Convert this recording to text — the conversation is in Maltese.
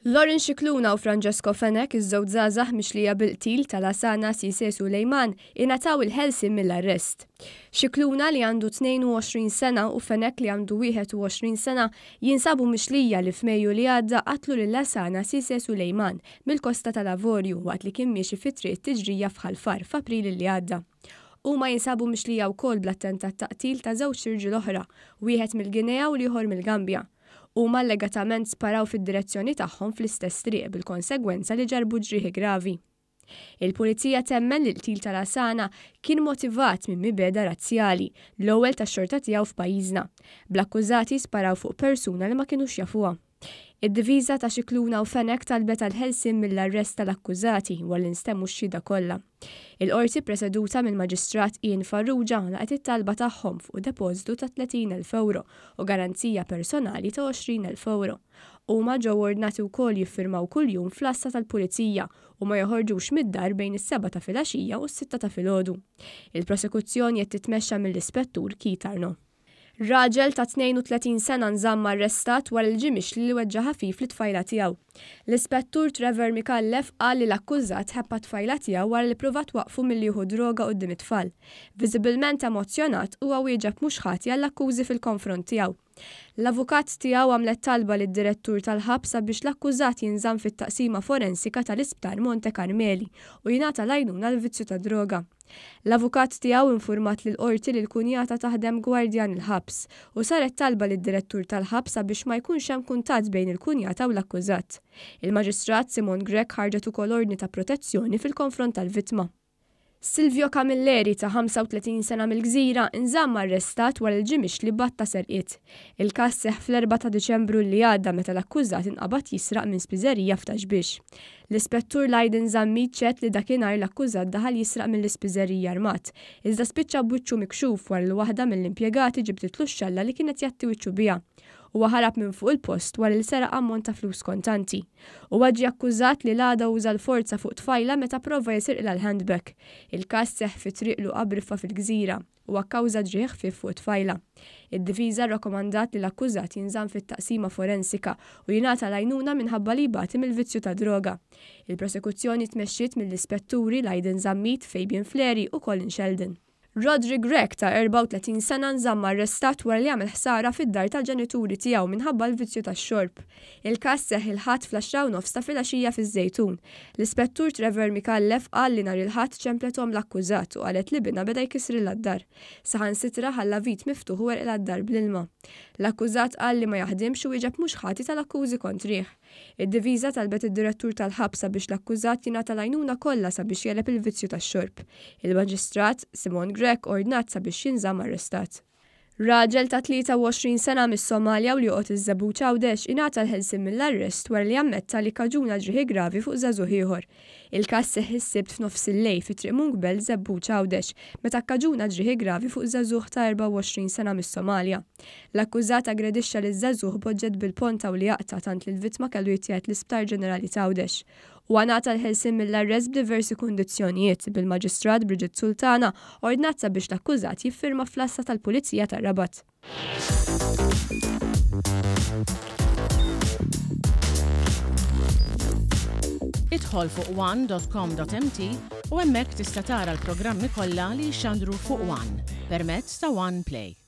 Lauren Scicluna u Francesco Fenech, iż-żewġ żgħażagħ mixlija bil-qtil ta' Lasana Cisse Suleiman, ingħataw il-ħelsien mill-arrest. Scicluna li għandu 22 sena u Fenech li għandu 21 sena jinsabu mixlija li f'Mejju li għadda qatlu lil Lasana Cisse Suleiman mill-Kosta tal-Avorju waqt li kien miexi fi Triq it-Tiġrija f'Ħal Far f'April li għadda. Huma jinsabu mixlija wkoll bl-attentat ta' qtil ta' żewġt irġiel oħra, wieħed mill-Guinea u l-ieħor mill-Gambja. Huma allegatament sparaw fid-direzzjoni tagħhom fl-istess triq bil-konsegwenza li ġarrbu ġrieħi gravi. Il-Pulizija temmen li l-qtil ta' Lasana kien motivat minn mibegħda razzjali, l-ewwel tax-xorta tiegħu f'pajjiżna, bl-akkużati sparaw fuq persuna li ma kinux jafuha. Id-difiża ta' Scicluna u Fenech talbet għall-ħelsien mill-arrest tal-akkużati wara li nstemmu x-xhieda kollha. Il-Qorti ppreseduta mill-Maġistrat Ian Farrugia laqgħet it-talba tagħhom fuq depożitu ta' 30,000 ewro u garanzija personali ta' 20,000 ewro. Huma ġew ordnati wkoll jiffirmaw kuljum fl-għassa tal-Pulizija u ma joħorġux mid-dar bejn is-sebgħa ta' filgħaxija u s-sitta ta' filgħodu. Il-prosekuzzjoni qed titmexxa mill-Ispettur Keith Arnaud. Raġel ta' 32 sena nżamm arrestat wara li ġie mixli li weġġa' ħafif lit-tfajla tiegħu. L-Ispettur Trevor Micallef qal li l-akkużat ħebb għat-tfajla tiegħu wara li ppruvat twaqqfu milli jieħu droga quddiem it-tfal. Viżibilment emozzjonat, huwa wieġeb mhux ħati għall-akkużi fil-konfront tiegħu. L-avukat tiegħu għamlet talba lid-direttur tal-ħabs sabiex l-akkużat jinżamm fit-taqsima forensika tal-Isptar Monte Carmeli u jingħata l-għajnuna għall-vizzju tad-droga. L-avukat tiegħu infurmat lill-Qorti li l-kunjata taħdem gwardjan il-ħabs u saret talba lid-direttur tal-ħabs sabiex ma jkunx hemm kuntatt bejn il-kunjata u l-akkużat. Il-Maġistrat Simone Grech ħarġet ukoll ordni ta' protezzjoni fil-konfront tal-vittma. Silvio Camilleri ta' 35 sena mill-Gżira nżamm arrestat wara li ġie mixli b'għadd ta' serqiet. Il-każ seħħ fl-erbgħa ta' Diċembru li għadda meta l-akkużat inqabad jisraq minn spiżerija f'Ta' Xbiex. L-Ispettur Lydon Zammit xehed li dakinhar l-akkużat daħal jisraq mill-ispiżerija armat, iżda spiċċa b'wiċċu mikxuf wara li waħda mill-impjegati ġibditlu x-xalla li kien qed jgħatti wiċċu biha. Huwa ħarab minn fuq il-post wara li seraq ammont ta' flus kontanti. Huwa ġie akkużat li l-għada uża l-forza fuq tfajla meta prova jisirqilha l-handbag. Il-każ seħħ fi Triq Luqa Briffa fil-Gżira. Huwa kkawża ġrieħ ħfief fuq it-tfajla. Id-difiża rrakkomandat li l-akkużat jinżamm fit-taqsima forensika u jingħata l-għajnuna minħabba li jbati mill-vizzju tad-droga. Il-prosekuzzjoni tmexxiet mill-Ispetturi Lydon Zammit, Fabian Fleri u Colin Sheldon. Roderick Grech ta' 34 sena nżamm arrestat wara li għamel ħsara fid-dar tal-ġenituri tiegħu minħabba l-vizzju tax-xorb. Il-każ seħħ il-Ħadd fl-għaxra u nofs ta' filgħaxija fiż-Żejtun. L-Ispettur Trevor Micallef qal li nhar il-Ħadd ċemplet omm l-akkużat u qalet li binha beda jkissrilha d-dar. Saħansitra ħalla vit miftuħ u għerqilha d-dar bl-ilma. L-akkużat qal li ma jaħdimx u wieġeb mhux ħati tal-akkużi kontrih. Id-difiża talbet id-direttur tal-ħabs sabiex l-akkużat jingħata l-għajnuna kollha sabiex jegħleb il-vizzju tax-xorb. Il-Maġistrat, Simone Grech ordnat sabiex jinżamm arrestat. Raġel ta' 23 sena mis-Somalja u li joqgħod iż-Żebbuġ Għawdex ingħata l-ħelsien mill-arrest wara li ammetta li kkaġuna ġrieħi gravi fuq żagħżugħ ieħor. Il-każ seħħ is-Sibt f'nofsillejl fi Triq Mungbel, Żebbuġ Għawdex, meta kkaġuna ġrieħi gravi fuq żagħżugħ ta' 24 sena mis-Somalja. L-akkużat aggredixxa liż-żagħżugħ b'oġġett bil-ponta u li jaqta' tant li l-vittma kellu jittieħed l-Isptar Ġenerali t'Għawdex. Huwa ngħata l-ħelsien mill-arrest b'diversi kundizzjonijiet, bil-Maġistrat Bridget Sultana ordnat sabiex l-akkużat jiffirma fl-għassa tal-Pulizija tar-Rabat. Idħol fuq one.com.mt u hemmhekk tista' tara l-programmi kollha li jixxandru fuq One permezz ta' One Play.